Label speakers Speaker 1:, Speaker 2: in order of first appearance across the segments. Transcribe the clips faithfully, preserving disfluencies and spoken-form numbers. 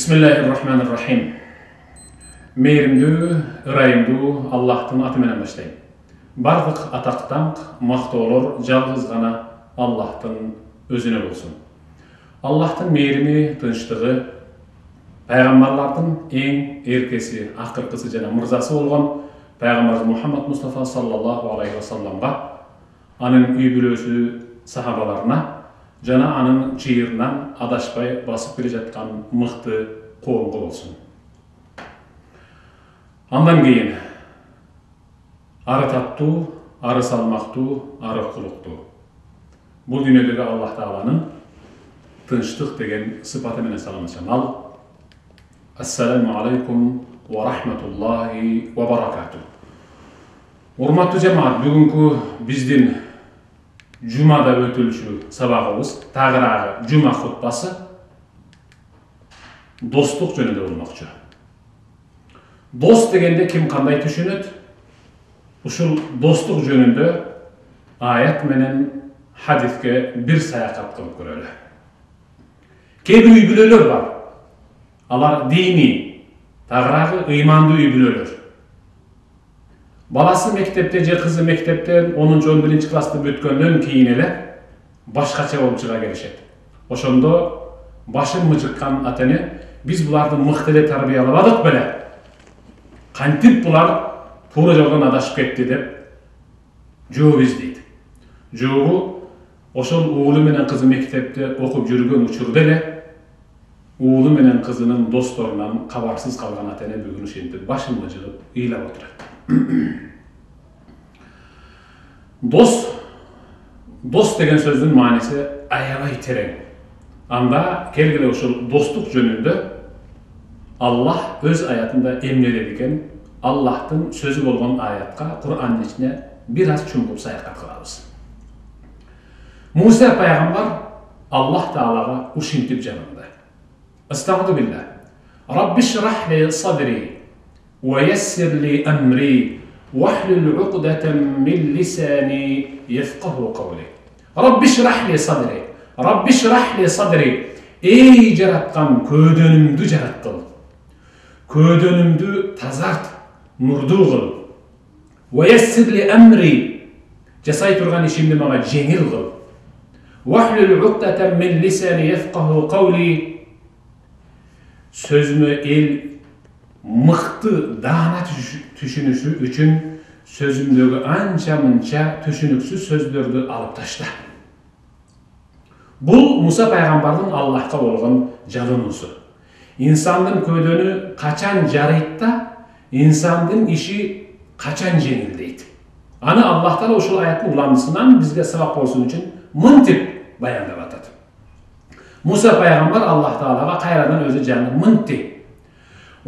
Speaker 1: Bismillahirrahmanirrahim. Meyrimdүү, ырайымдуу Аллахтын аты менен баштайм. Бардык атактан мактоолор жалгыз гана Аллахтын өзүнө болсун. Аллахтын мейрими, тынчтыгы, пайгамбарлардын эң эркеси, акыркысы жана мырзасы болгон пайгамбар Мухаммад Мустафа саллаллаху алейхи ва салламга, анын үй бүлөсү, сахабаларына жана анын чыйырынан адашпай басып келе жаткан мыкты коомго болсун. Андан кийин ары таттуу, ары салмактуу, ары кулуктуу. Бул дүйнөдөгү Аллах Тааланын тынчтык деген сыпаты менен саламатчан ал. Ассаламу алейкум ва рахматуллахи ва баракату. Урматтуу жамаат, бүгүнкү биздин Жумада өтүлчү сабагыбыз, тагыраагы жума хутбасы достук жөнүндө болмокчу. Дос дегенде ким кандай түшүнөт? Ушул достук жөнүндө аят менен хадиске бир саякат кылып көрөлү. Кээ бир үй бүлөлөр бар. Алар дини, тагыраагы ыймандуу үй бүлөлөр. Баласы мектепте же кызы мектептен онунчу он биринчи классты бүткөндөн кийин эле башкача болуп чыга келишет. Ошондо башын мыжыккан ата-эне биз буларды мыкты эле тарбиялабадык беле? Кантип булар туура жолдон адашып кетти деп жооп издейт. Жообу ошол уулу менен кызы мектепте окуп жүргөн учурда эле уулу менен кызынын досторунан кабарсыз калган ата-эне бүгүн ушинтип башын мыжыгып ыйлап отурат. Дос, дос деген сөздүн мааниси аябай терең. Анда келгиле ушул достук жөнүндө Аллах өз аятында эмне деди экен? Аллахтын сөзү болгон аятка Кур'андын ичине бир аз чуңкуп саякат кылабыз. Муса пайгамбар Аллах Таалага ушинтип жалынды. Астагфиру билlah. Рабби шрах ли садри ва яссир ли амри واحلل عقدة من لساني يفقهوا قولي. رب اشرح لي صدري. رب اشرح لي صدري. Ey жараткан, көдөнүмдү жараткыл. Көдөнүмдү тазарт, нурдуу кыл. ويسر لي أمري. Жасай турган ишимди мага жеңил кыл. واحلل عقدة من لساني يفقهوا قولي. Сөзүмө эл мыкты даана түшүнүшү үчүн сөзүмдөгү анча-мынча түшүнүксүз сөздөрдү алып ташта. Бул Муса пайгамбардын Аллахка болгон жалынуусу. Инсандын көдөнү качан жарыйт да, инсандын иши качан жеңилдейт. Аны Аллах Таала ушул аяттын уламдысынан бизге сабак болсун үчүн мынтип баяндап атат. Муса пайгамбар Аллах Таалага кайрадан өзү жаңы мынтип: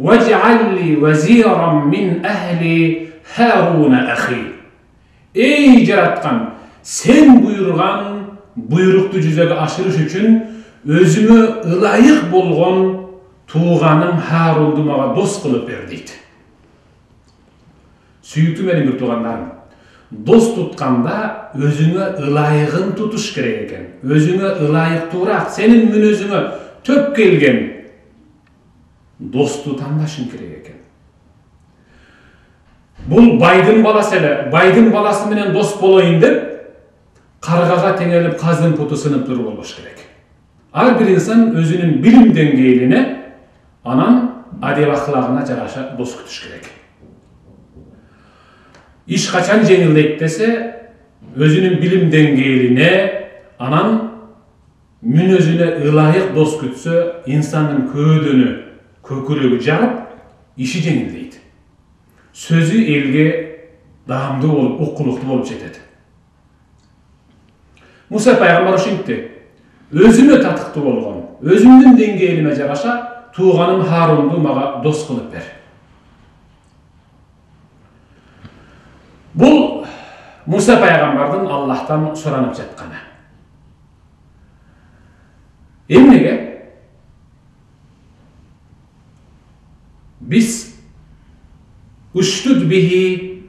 Speaker 1: وَاجْعَلْ لِي وَزِيرًا مِنْ أَهْلِي هَارُونَ أَخِي. Ey жараткан, сен буйрган буйрукту жүзөгө ашырыш үчүн өзүмө ылайык болгон тууганым Харунду мага дос кылып бер дейт. Сүйүктүү менин бир туугандарым, дос тутканда өзүңө ылайыгын тутуш керек экен. Өзүңө ылайыктуураак, сенин мүнөзүңө төп келген досту тандашың керек экен. Бул байдын баласы эле, байдын баласы менен дос болоюн деп каргага теңелип каздын путу сынып туруп болбош керек. Ар бир инсан өзүнүн билим деңгээлине, анан адеп аклагына жараша дос күтүш керек. Иш качан жеңилдейт десе, өзүнүн билим деңгээлине, анан мүнөзүнө ылайык дос күтсө, инсандын көдөнү көкүрөгү жарып, иши жеңилдейт. Сөзү элге даамдуу болуп, уккулуктуу болуп жетет. Муса пайгамбар ушинтти: өзүмө татыктуу болгон, өзүмдүн деңгээлиме жараша тууганым Харунду мага дос кылып бер. Бул Муса пайгамбардын Аллахтан суранып жатканы. Эмнеге? Biz uştud bihi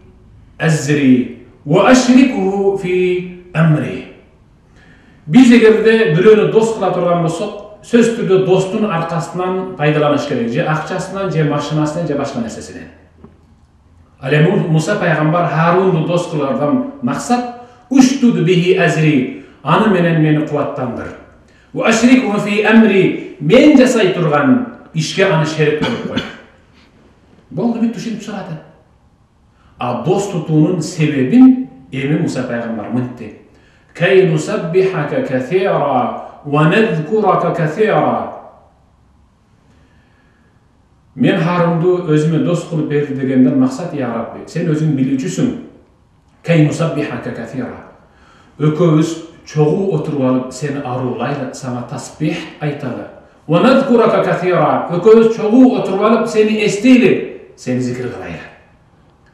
Speaker 1: azri ve aşrikuhu fi amri. Biz egerde biröөнү дос кыла турган болсок, сөз түрдө достун аркасынан пайдаланыш керек, же акчасынан, же машинасынан, же башка нерсесинен. Ал эми Муса пайгамбар Харунду дос кылардан максат уштуд бихи азри, аны менен мени кубаттандыр. Ва ашрикху фи амри, мен жасай турган ишке аны шерик кылып кой. Болду, бүт түшүнүп чыгат. А дос тутуунун себебин эми Муса пайгамбар мынтти: кай нусаббихака касира ва надзкурака касира. Мен Харунду өзүмө дос кылып берди дегенден максат: я Рабби, сен өзүң билүүчүсүң. Кай нусаббихака касира. Экөөбүз чогуу отуруп алып сени аруулайлы, сага тасбих айталы. Ва надзкурака касира. Экөөбүз чогуу отуруп алып сени эстейли, сени зикир кылайлы.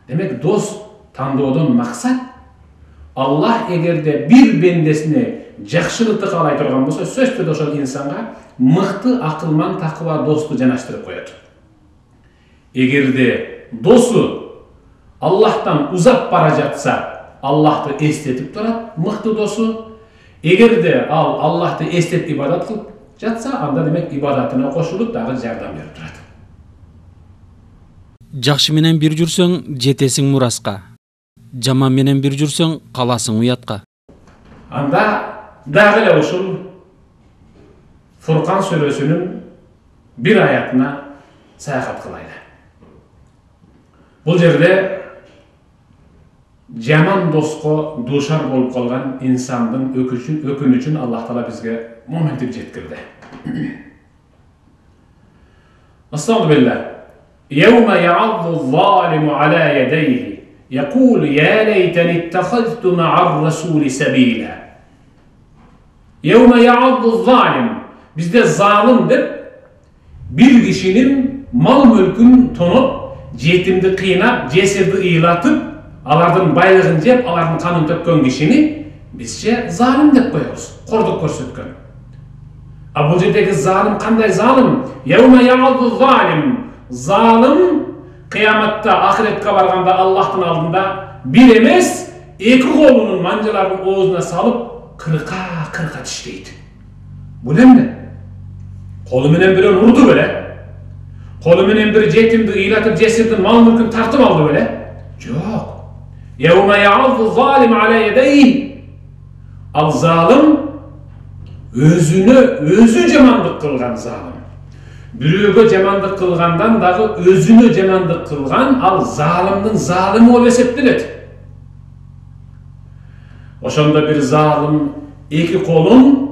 Speaker 1: Демек, дос тандоодон максат Аллах эгерде бир бендесине жакшылыкты каалай турган болсо, сөз түрдө ошол инсанга мыкты акылман такыба досту жанаштырып коет. Эгерде досу Аллахтан узап бара жатса, Аллахты эстетип турат, мыкты досу. Эгерде ал Аллахты эстеп ибадат кылып жатса, анда демек ибадатына кошулуп дагы жардам берип турат.
Speaker 2: Жакшы менен бир жүрсөң, жетесиң мураска. Жаман менен бир жүрсөң, каласың уятка.
Speaker 1: Анда дагы эле ушул Фуркан сүрөсүнүн бир аятына саякат кылайлы. Бул жерде жаман доско дуушар болуп калган инсандын өкүнүчүн Аллах Таала бизге моментип жеткирди. Астагфирулlah. Yawma ya'addu adh-dhalimu 'ala yadayhi yaqulu ya laytani ittakhadhtu ma'a ar-rasuli sabila. Yawma ya'addu adh-dhalim. Bizde zalim dep bir kişinin mal mülkün tonup, yetimdi kıynap, cesirdi ıylatıp, alardan baylığın cep, alardan kanın tökkön kişini bizce zalim dep koyuyoruz. Korduk körsetken. Bu yerdeki zalim kanday zalim? Yevme ya'addu zalim. Zalim kıyamatta, ahiretke barganda Allah'tan aldığında bir emes, iki kolunun mancalarının oğuzuna salıp kırka kırka dişleydi. Bu ne mi? Kolu menen biri vurdu böyle. Kolu menen biri yetimdi, ıylatıp, cesirdi, mal mülkün tartıp aldı böyle. Yok. Yevme ya'addu zalim ala yedeyhi. Al zalim özünü, özü cemandık kılgan zalim. Bürüğü cemandık kılgandan dağı özünü cemandık kılgan al zalimdin zalimi ol eseptilet. Oşonda bir zalim iki kolun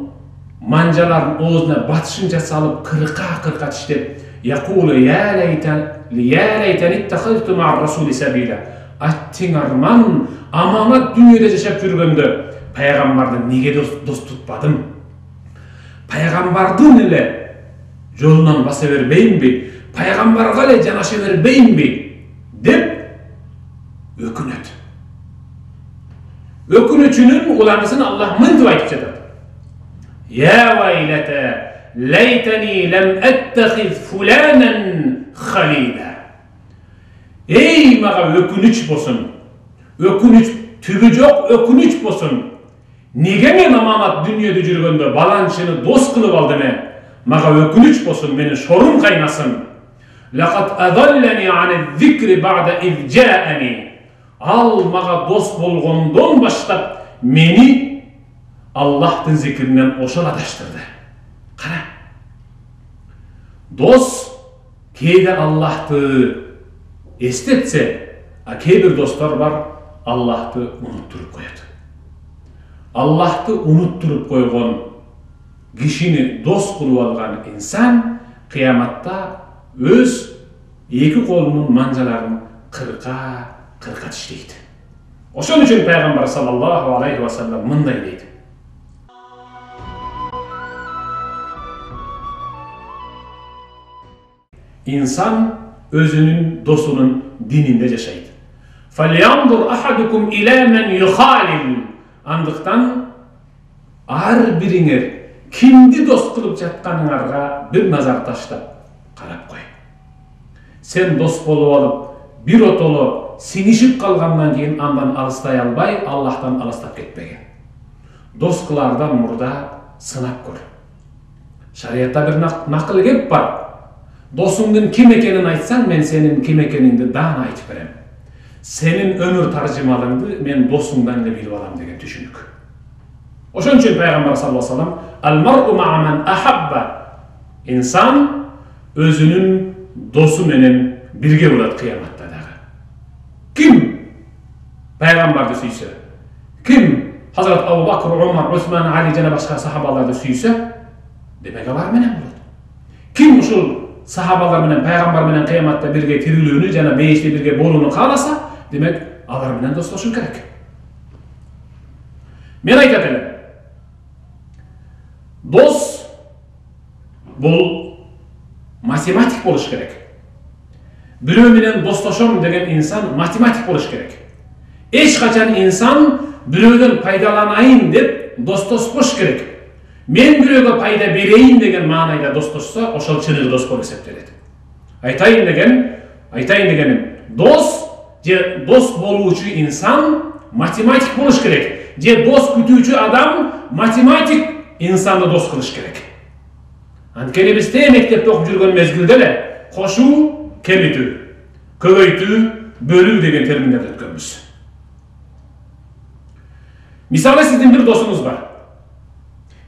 Speaker 1: mancaların oğuzuna batışınca salıp kırka kırka tiştep yakulu ya leyten ya leyten ittakhadtu ma'a rasuli sabila. Attin arman amanat dünyada yaşap yürgöndü. Peygamberden nege dost, dost tutmadım? Peygamberden ile yolundan basa verbeyin mi? Peygamberga ile canaşa verbeyin mi? Dep ökünet. Ökünüçünün ulanısını Allah mıntıva etip çatar. Ya vaylete leyteni lem ettehiz fulanen halila. Ey mağa ökünüç bosun. Ökünüç tübü yok, ökünüç bosun. Nege men amanat dünyada жүрgöndө balançını dost kılıp aldı me? Mağa ökünüç bosun, meni şorum kaynasın. Laqad adallani anez zikri ba'da iz ja'ani. Al mağa dost bolgondon başlap meni Allah'tın zikrinden oşal adaştırdı. Kara. Dost keyde Allah'tı estetse, a keydir dostlar var Allah'tı unutturup koyat. Allah'tı unutturup koygon kişini dost kılıp algan insan kıyamatta öz iki kolunun mancalarını kırka kırka dişleydi. Oşun üçün Peygamber sallallahu aleyhi ve sellem mınday deydi. İnsan özünün dostunun dininde yaşaydı. فَلْيَنْظُرْ أَحَدُكُمْ إِلَى مَنْ يُخَالِلْ. Andıktan ar biringer kimdi dost kılıp жатkanыңarga bir nazar taşlap karap koy. Sen dost bolup alıp bir otolu sinişip kalgandan keyin andan alыстay albay Allah'tan alыстap ketpegen. Dost kılardan murda sınap kör. Шариятта бир накыл кеп бар. Досуңдун ким экенин айтсаң, мен сенин ким экениңди даана айтып берем. Сенин өмүр таржымалыңды мен досуңдан эле билип алам деген түшүнүк. Ошон үчүн пайгамбар саллаллаху алейхи ва саллям ал-мар'у ма'a man ahabba. Инсан өзүнүн досу менен бирге болот кыяматта дагы. Ким пайгамбарды сүйсө, ким Hazrat Abu Bakr, Umar, Osman, Ali жана башка сахабаларды сүйсө, демек алар менен болот. Ким ушул сахабалар менен пайгамбар менен кыяматта бирге тирилүүнү жана бейиште бирге болууну кааласа, демек алар менен достошуу керек. Мен айтат элем. Дос бул математик болуш керек. Бирөө менен достошом деген инсан математик болуш керек. Эч качан инсан бирөөдөн пайдаланайын деп достошпош керек. Мен бирөөгө пайда берейин деген маанайда достошсо, ошол чыныгы дос болуп эсептелет. Айтайын деген, айтайын дегеним, дос же дос болуучу инсан математик болуш керек. Же дос күтүүчү адам математик инсанды дос кылыш керек. Анткени биз те мектепте окуп жүргөн мезгилде эле кошуу, кемитүү, көбөйтүү, бөлүү деген терминдерди өткөнбүз. Мисалы сиздин бир досуңуз бар.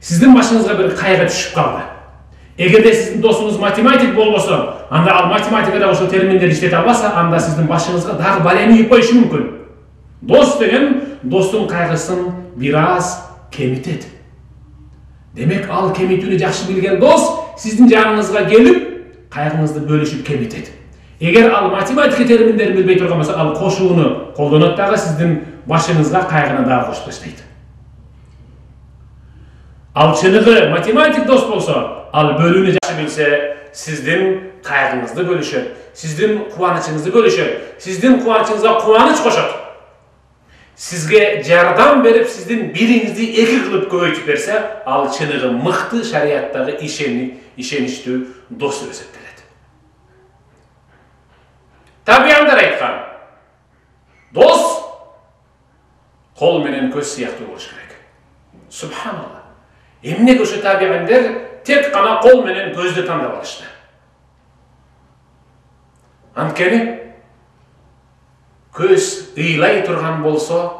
Speaker 1: Сиздин башыңызга бир кайгы түшүп калды. Эгерде сиздин досуңуз математик болбосо, анда ал математикада ошол терминдерди иштете албаса, анда сиздин башыңызга дагы балем ийип коюшу мүмкүн. Дос деген достун кайгысын бир аз кемитет. Демек ал кемитүүнү жакшы билген дос сиздин жаныңызга келип, кайгыңызды бөлүшүп кемитет. Эгер ал математика терминдерин билбей турган болсо, ал кошууну колдонот дагы сиздин башыңызга кайгыны дагы кошуп таштайт. Ал чыныгы математик дос болсо, ал бөлүүнү жакшы билсе, сиздин кайгыңызды бөлүшөт, сиздин кубанычыңызды бөлүшөт, сиздин кубанычыңызга кубаныч кошот. Сизге жардам берип, сиздин бириңизди эки кылып көбөйтүп берсе, ал чыныгы мыкты шарияттагы ишеничтүү дос деп эсептелет. Табиандар айткан, дос кол менен көз сыяктуу болуш керек. Субханалла. Эмнеге ошо табиандар тек гана кол менен көздү тандап алышты? Анткени көз ыйлай турган болсо,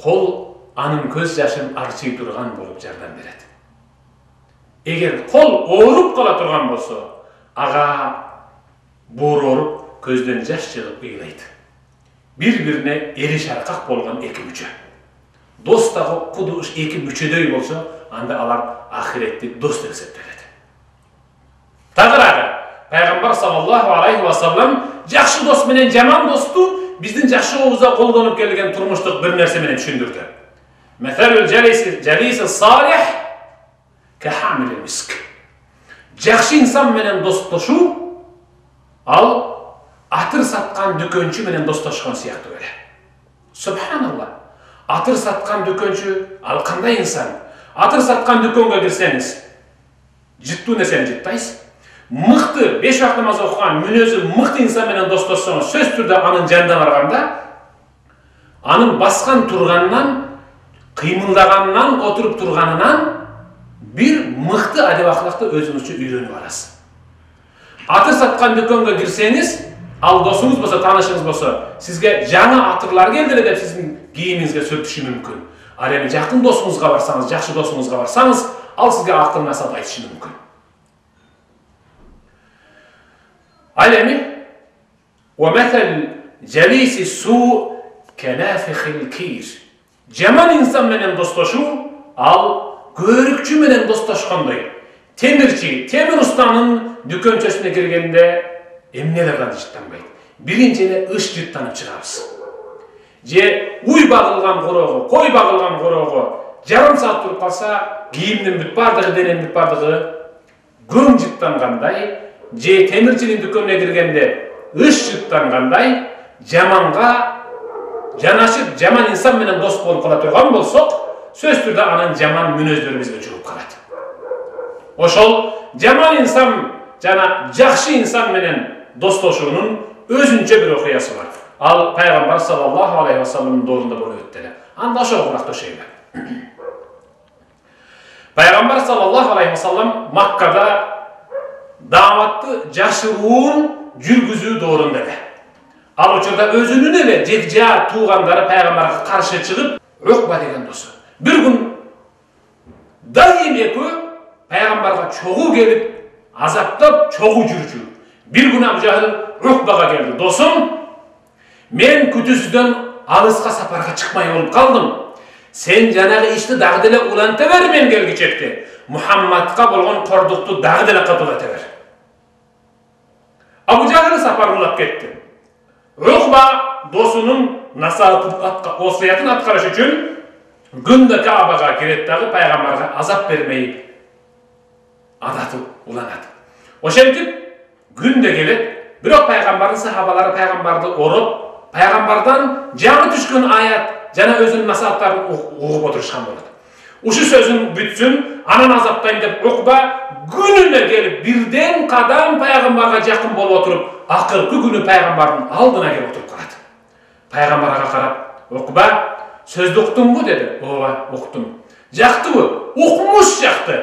Speaker 1: кол анын көз жашын арчый турган болуп жардам берет. Эгер кол ооруп кала турган болсо, ага боор ооруп, көздөн жаш чыгып ыйлайт. Бири-бирине эри шаркак болгон эки мүчө. Дос дагы куду уш эки мүчөдөй болсо, анда алар ахиреттик дос деп эсептелет. Тагыраагы пайгамбар саллаллаху алейхи ва саллям жакшы дос менен жаман досту биздин жашообузда колдонуп келген турмуштук бир нерсе менен түшүндүрдү. Мәсәлүл жалиси салих кахамил миск. Жакшы инсан менен достошуу ал атыр саткан дүкөнчү менен достошкон сыяктуу эле. Субханалла. Атыр саткан дүкөнчү ал кандай инсан? Атыр саткан дүкөнгө кирсеңиз, жыттуу нерсени жыттайсыз. Мыкты беш вакыт намаз окуган, мүнөзү мыкты инсан менен достошсоңуз, сөз түрдө анын жанына барганда, анын баскан турганынан, кыймылдаганынан, отуруп турганынан бир мыкты адеп акылакты өзүңүзчө үйрөнүп аласыз. Атыр саткан дүкөнгө кирсеңиз, ал досуңуз болсо, таанышыңыз болсо, сизге жаңы атырлар келди эле деп сиздин кийимиңизге сүртүшү мүмкүн. Ал эми жакын досуңузга барсаңыз, жакшы досуңузга барсаңыз, ал сизге акыл насаат айтышы мүмкүн. Ал эми وَمَثَلْ جَلِيسِ السُّوءِ كَنَافِخِ الْكِيرِ. Жаман инсан менен достошуу ал көрүкчү менен достошкондой. Темирчи, темир устанын дүкөнчөсүнө киргенде эмнелерден жыттанбайт. Биринчи эле ыш жыттанып чыгабыз. Же уй багылган корого, кой багылган корого жарым саат туруп калса, кийимдин бүт бардыгы, дененин бүт бардыгы көң жыттангандай, же темирчинин дүкөнүнө киргенде ыш жыттангандай, жаманга жанашып, жаман инсан менен дос болуп кала турган болсок, сөз түрдө анын жаман мүнөздөрү бизге жугуп калат. Ошол жаман инсан жана жакшы инсан менен достошуунун өзүнчө бир окуясы бар. Ал пайгамбар саллаллаху алейхи ва салламдын доорунда болуп өттү эле. Анда ошого кулакташайлы. Пайgambar sallallahu aleyhi ve sellem Makkada davatты жашыруун жүргүзүү доорунда. Ал учурда өзүнүн эле жекжа туугандары пайгамбарга каршы чыгып, Укба деген досу. Бир күн дайым экөө пайгамбарга чогуу келип, азаптап чогуу жүрчү. Бир күн Абу Жахил Укбага келди. Досум, мен күтүүсүздөн алыска сапарга чыкмай болуп калдым. Сен жанагы ишти дагы деле уланта бер мен келгичекте. Мухаммадка болгон кордукту дагы деле катуулата бер. Абу Жахил сапар улап кетти. Укба досунун насаатын аткарыш үчүн күндө Каабага кирет дагы пайгамбарга азап бермей адаты уланат. Ошентип күндө келет, бирок пайгамбардын сахабалары пайгамбарды ороп, пайгамбардан жаңы түшкөн аят жана өзүнүн насааттарын угуп отурушкан болот. Ушу сөзүн бүтсүн, анан азаптайм деп Укба күнүнө келип бирден кадам пайгамбарга жакын болуп отуруп, акыркы күнү пайгамбардын алдына келип отуруп калат. Пайгамбарга карап, Укба, сөздү уктуңбу деди. Ооба, уктум. Жактыбы? Укмуш жакты.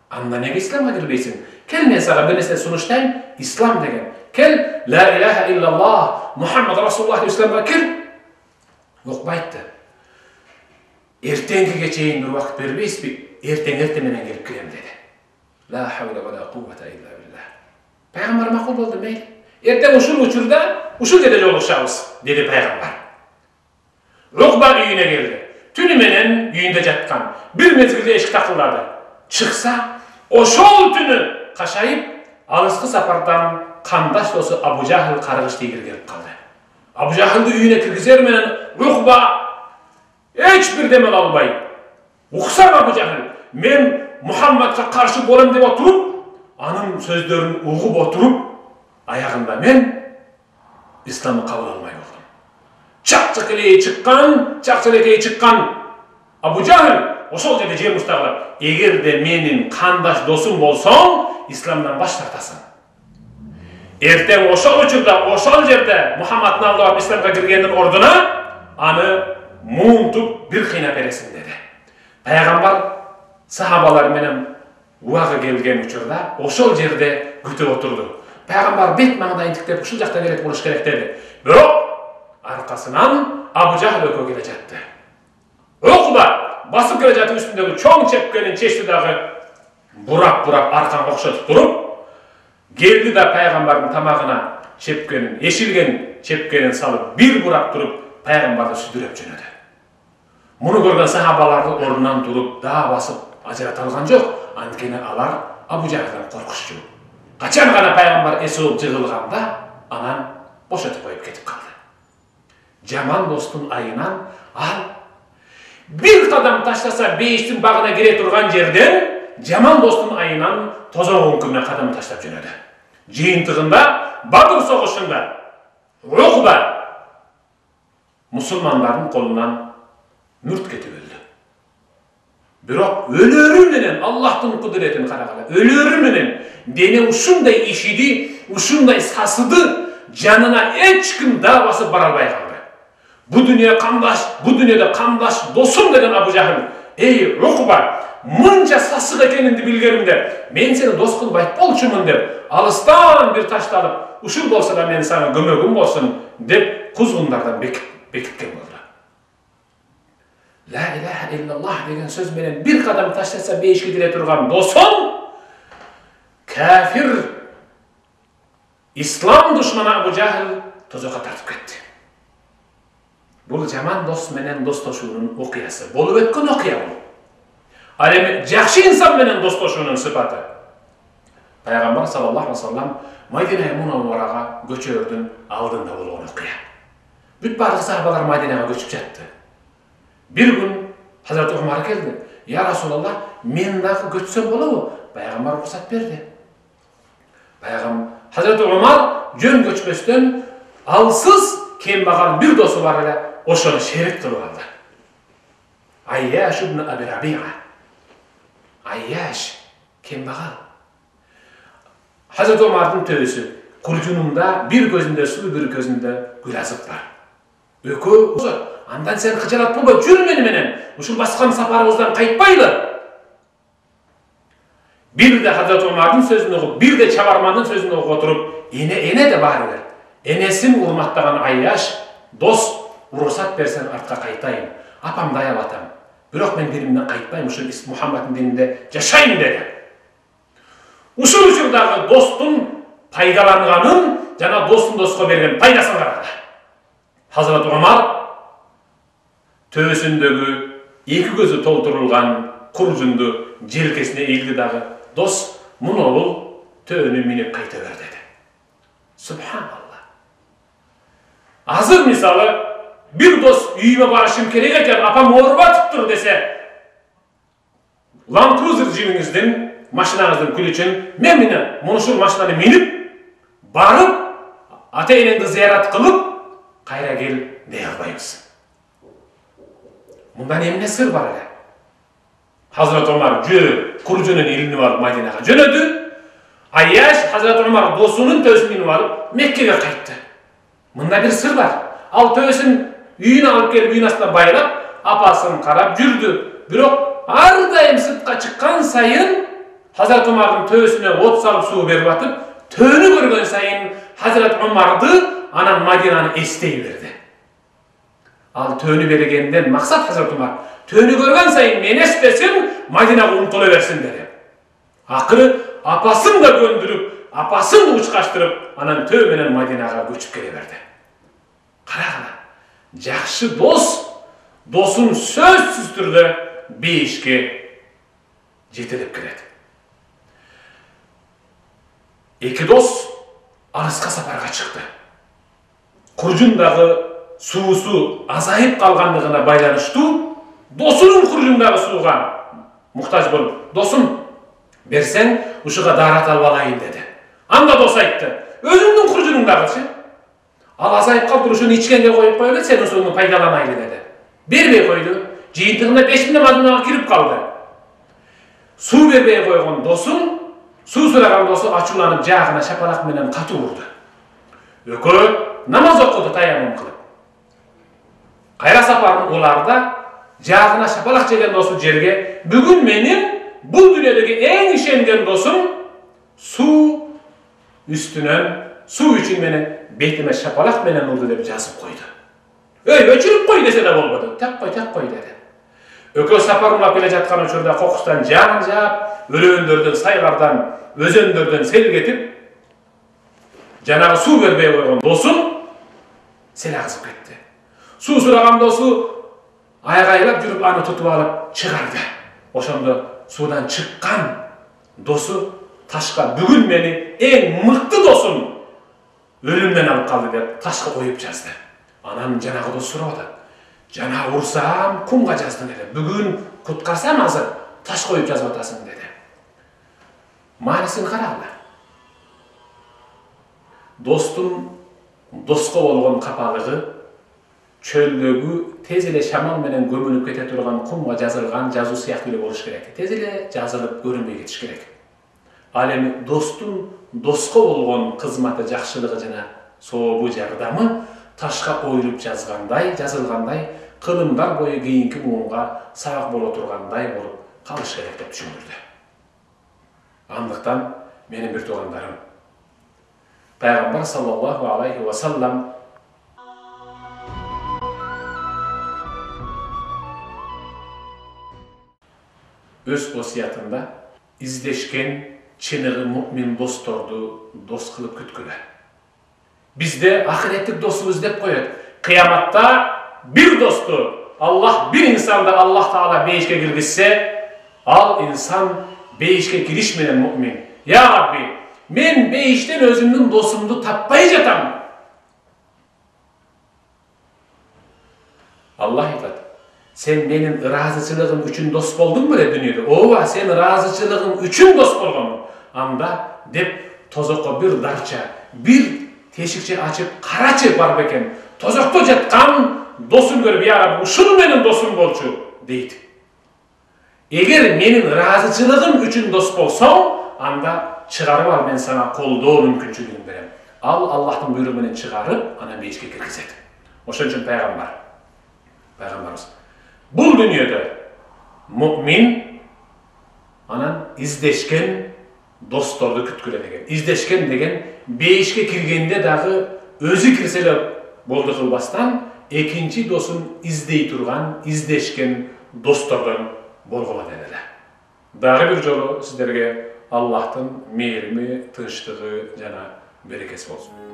Speaker 1: Анда неге исламга кирбейсиң? Кел мен сага бир нерсе сунуштайм, ислам деген. Кел, ла илаха иллаллах, Мухаммад расулуллах деп исламга кир. Укба айтты. Эртеңгиге чейин бир убакыт бербейсизби? Эртең эрте менен келип кирем деди. Ла хавла ва ла куввата илля биллах. Пайгамбар макул болду, мейли. Эртең ушул учурда, ушул жерде жолугушабыз, деди пайгамбар. Укба үйүнө келди. Түнү менен үйүндө жаткан. Бир мезгилде эшик такылдады. Чыкса, ошол түнү кашайып, алыскы сапардан кандаш досу Абу Жахил каргыш тийгир келип калды. Абу Жахилди үйүнө киргизер менен Укба эч бир демел албай, уксам Абу Жахил, мен Мухаммадка каршы болом деп отуруп, анын сөздөрүн угуп отуруп, аягында мен исламды кабыл алмай болдум. Чак-чакелей чыккан, чак-чакелей чыккан Абу Жахил ошол жерде жер муштагылап, эгерде менин кандаш досум болсоң, исламдан баш тартасың. Эртең ошол учурда, ошол жерде Мухаммадны алдап исламга киргендин ордуна аны муунтуп бир кыйнап бересиң деди. Пайгамбар сахабалар менен убагы келген учурда ошол жерде күтүп отурду. Пайгамбар бет маңдайын тиктеп ушул жакта келет болуш керек деди. Бирок аркасынан Абу Жахил экөө келе жатты. Укба басып келе жатып үстүндөгү чоң чепкенин чечти дагы бурап-бурап арканга окшотуп туруп, келди да пайгамбардын тамагына чепкенин, эшилген чепкенин салып, бир бурап туруп, пайгамбарды сүдүрөп жөнөдү. Муну көргөн сахабаларды ордунан туруп, да басып ажырата алган жок, анткени алар Абу Жахилден коркушчу. Качан гана пайгамбар эс болуп жыгылганда, анан бошотуп коюп кетип калды. Жаман достун айынан ал бир кадам таштаса бейиштин багына кире турган жерден жаман достун айынан тозоң өңкүрүнө кадам таштап жөнөдү. Жыйынтыгында Бадыр согушунда Укба мусулмандардын колунан мүрт кетип өлдү. Бирок өлөрү менен Аллахтын кудуретин карагыла, өлөрү менен дене ушундай ишиди, ушундай сасыды, жанына эч ким да басып бара албай калды. Бу дүйнө кандаш, бу дүйнөдө кандаш досум деген Абу Жахил, эй Укба, мынча сасык экениңди билгенимде, мен сени дос кылып айтполчумун деп, алыстан бир ташты алып, ушул болсо да мен сага көмөгүм болсун деп кузгундардан бекиткен болду. Ла илаха иллаллах деген сөз менен бир кадам таштаса бейишке кире турган досум кафир, ислам душманы Абу Жахил тозокко тартып кетти. Бул жаман дос менен достошуунун окуясы, болуп өткөн окуя бул. Ал эми жакшы инсан менен достошуунун сыпаты. Пайгамбар саллаллаху алейхи ва саллям Мадина Мунавварага көчөрдүн алдында болгон окуя. Бүт барлык сахабалар Мадинага көчүп жатты. Бир күн Хазрат Умар келди. Я Расулаллах, мен дагы көчсөм болобу? Пайгамбар уруксат берди. Пайгамбар Хазрат Умар жөн көчпөстөн алсыз кембагал бир досу бар эле, ошону шерик кылып алды. Айяш ибн Аби Рабиа. Айяш кембагал. Хазрат Умардын төбөсү куржунунда бир көзүндө суу, бир көзүндө гүл азык бар. Экөө андан сен кыжалат болбой, жүр мени менен. Ушул баскан сапарыбыздан кайтпайлы. Бир де Hazreti Ömer'дин сөзүн угуп, бир де чабармандын сөзүн угуп отуруп, эне эне де баары бир. Энесин урматтаган Айяш, дос уруксат берсең артка кайтайын. Апамды аябап атам. Бирок мен динимден кайтпайм, ушул Мухаммадтын дининде жашайм деди. Ушул учурдагы достун пайдаланганын жана достун доско берген пайдасын карагыла. Hazreti Ömer төбөсүндөгү эки көзү толтурулган куржунду желкесине ийилди дагы, дос мунобул төөнү минип кайта бер деди. Субханалла. Азыр мисалы бир дос үйүмө барышым керек экен, апам ооруп атыптыр десе, Land Cruiser жибиңиздин, машинаңыздын күлүчүн мен менен мунушул машинаны минип барып, ата-энеңди зыярат кылып, кайра кел дей албайбыз. Мындан эмне сыр бар эле? Hazreti Ömer жөө куржунун илинип алып Мадинага жөнөдү. Айяш Hazreti Ömer досунун төбөсүн минип алып Меккеге кайтты. Мында бир сыр бар. Ал төбөсүн үйүнө алып келип үйүн астына байлап, апасын карап жүрдү. Бирок ар дайым сыртка чыккан сайын Hazreti Ömer'дин төбөсүнө от салып суу берип атып, төөнү көргөн сайын Hazreti Ömer'ды анан Мадинаны эстей берди. Ал төөнү бергенден максат Hazreti Ömer төөнү көргөн сайын мен эстесин, Мадинага умтула берсин деди. Акыры апасын да көндүрүп, апасын да учкаштырып, анан төө менен Мадинага көчүп келе берди. Карагыла, жакшы дос досун сөзсүз түрдө бейишке жетелеп келет. Эки дос алыска сапарга чыкты. Куржундагы суусу азайып калгандыгына байланыштуу, досунун куржундагы сууга муктаж болуп, досум берсең ушуга даарат алып алайын деди. Анда дос айтты, өзүңдүн куржунуңдагычы. Ал азайып калды, ушуну ичкенге коюп койгу, сен ушуну пайдаланайлы деди. Бербей койду. Жыйынтыгында беш миң Мадинага кирип калды. Суу бербей койгон досун, суу сураган досу ачууланып жаагына шапалак менен катуу урду. Экөө намаз окуду таямум кылып. Кайра сапарын уларда жаагына шапалак жеген досу жерге, бүгүн менин бул дүйнөдөгү эң ишенген досум суу үстүнөн, суу үчүн менен бетиме шапалак менен урду деп жазып койду. Өй, өчүрүп кой десе да болбоду. Так кой, так кой деди. Экөө сапарымлап келе жаткан учурда кокустан жан жаап, өрөөндөрдөн, сайлардан, өзөндөрдөн сел кетип, жанагы суу бербей койгон досун сел агызып кетти. Суу сураган досу айгайлап жүрүп аны тутуп алып чыгарды. Ошондо суудан чыккан досу ташка, бүгүн мени эң мыкты досум өлүмдөн алып калды деп ташка коюп жазды. Анан жанагы дос сурады. Жана урсам кумга жаздың деди. Бүгүн куткарсам азыр таш коюп жазып атасың деди. Маанисин карагыла. Достун доско болгон капалыгы чөлдөгү тез эле шамал менен көмүлүп кете турган кумга жазылган жазуу сыяктуу эле болуш керек. Тез эле жазылып көрүнбөй кетиш керек. Ал эми достун доско болгон кызматы, жакшылыгы жана сообу, жардамы ташка оюлуп жазгандай, жазылгандай, кылымдар бою кийинки муунга сабак боло тургандай болуп калыш керек деп түшүндүрдү. Андыктан менин бир туугандарым, Пайгамбар саллаллаху алейхи ва саллам өз осуятында издешкен чыныгы мукмин досторду дос кылып күткүлө. Бизде ахиреттик досу издеп коет. Кыяматта бир досту Аллах, бир инсанды Аллах Таала бейишке киргизсе, ал инсан бейишке кириш менен мукмин. Я Рабби, мен бейиштен өзүмдүн досумду таппай жатам. Аллах айтат: сен менин ыраазычылыгым үчүн дос болдуң беле дүйнөдө? Ооба, сен ыраазычылыгым үчүн дос болгонмун. Анда деп тозокко бир дарча, бир тешикче ачып карачы бар бекен. Тозокто жаткан досун көрүп, я Рабби, ушул менин досум болчу дейт. Эгер менин ыраазычылыгым үчүн дос болсоң, анда чыгарып ал, мен сага колдоо мүмкүнчүлүгүн берем. Ал Аллахтын буйругу менен чыгарып, анан бейишке киргизет. Ошон үчүн пайгамбар, пайгамбарыбыз бул дүйнөдө мукмин анан издешкен досторду күткүлө деген. Издешкен деген бейишке киргенде дагы өзү кирсе эле болду кылбастан, экинчи досун издей турган, издешкен достордон болгула деп эле. Дагы бир жолу сиздерге Аллахтын мээрими, тынчтыгы жана берекеси болсун.